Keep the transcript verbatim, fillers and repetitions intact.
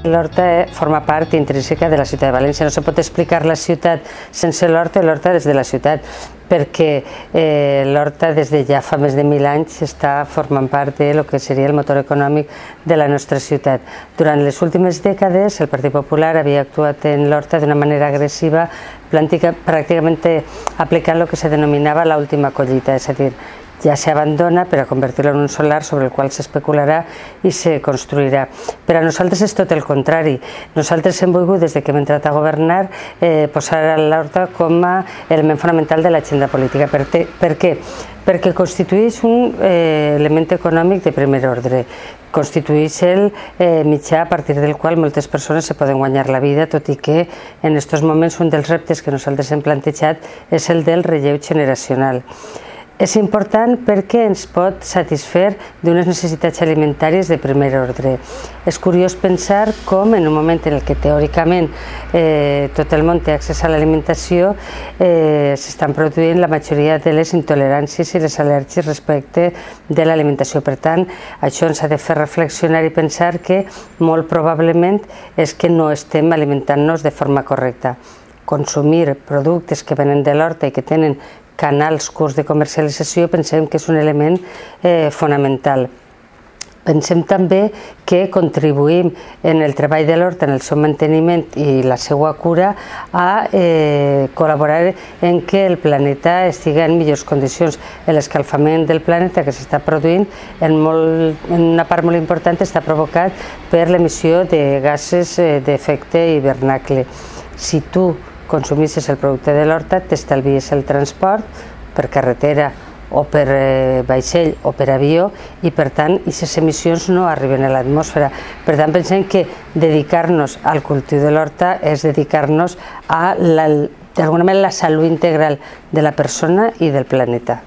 L'Horta forma part intrínseca de la ciutat de València. No se pot explicar la ciutat sense l'Horta i l'Horta des de la ciutat, perquè eh, l'Horta des de ja fa més de mil anys està formant part de lo que seria el motor econòmic de la nostra ciutat. Durant les últimes dècades el Partit Popular havia actuat en l'Horta d'una manera agressiva, pràcticament aplicant el que se denominava l'última collita, és a dir, ja s'abandona per a convertir-lo en un solar sobre el qual s'especularà i se construirà. Per a nosaltres és tot el contrari. Nosaltres hem volgut, des que hem entrat a governar, eh, posar l'Horta com a element fonamental de l'agenda política. Per, te, per què? Perquè constitueix un eh, element econòmic de primer ordre. Constitueix el eh, mitjà a partir del qual moltes persones se poden guanyar la vida, tot i que en aquests moments un dels reptes que nosaltres hem plantejat és el del relleu generacional. És important perquè ens pot satisfer d'unes necessitats alimentàries de primer ordre. És curiós pensar com en un moment en què teòricament eh, tot el món té accés a l'alimentació eh, s'estan produint la majoria de les intoleràncies i les al·lèrgies respecte de l'alimentació. Per tant, això ens ha de fer reflexionar i pensar que molt probablement és que no estem alimentant-nos de forma correcta. Consumir productes que venen de l'horta i que tenen canals curts de comercialització pensem que és un element eh, fonamental. Pensem també que contribuïm en el treball de l'horta, en el seu manteniment i la seva cura, a eh, col·laborar en que el planeta estigui en millors condicions. L'escalfament del planeta que s'està produint, en, molt, en una part molt important, està provocat per l'emissió de gasos eh, d'efecte hivernacle. Si tu consumissis el producte de l'horta, t'estalvies el transport per carretera o per eh, vaixell o per avió i per tant aquestes emissions no arriben a l'atmosfera. Per tant pensem que dedicar-nos al cultiu de l'horta és dedicar-nos a d'alguna manera la salut integral de la persona i del planeta.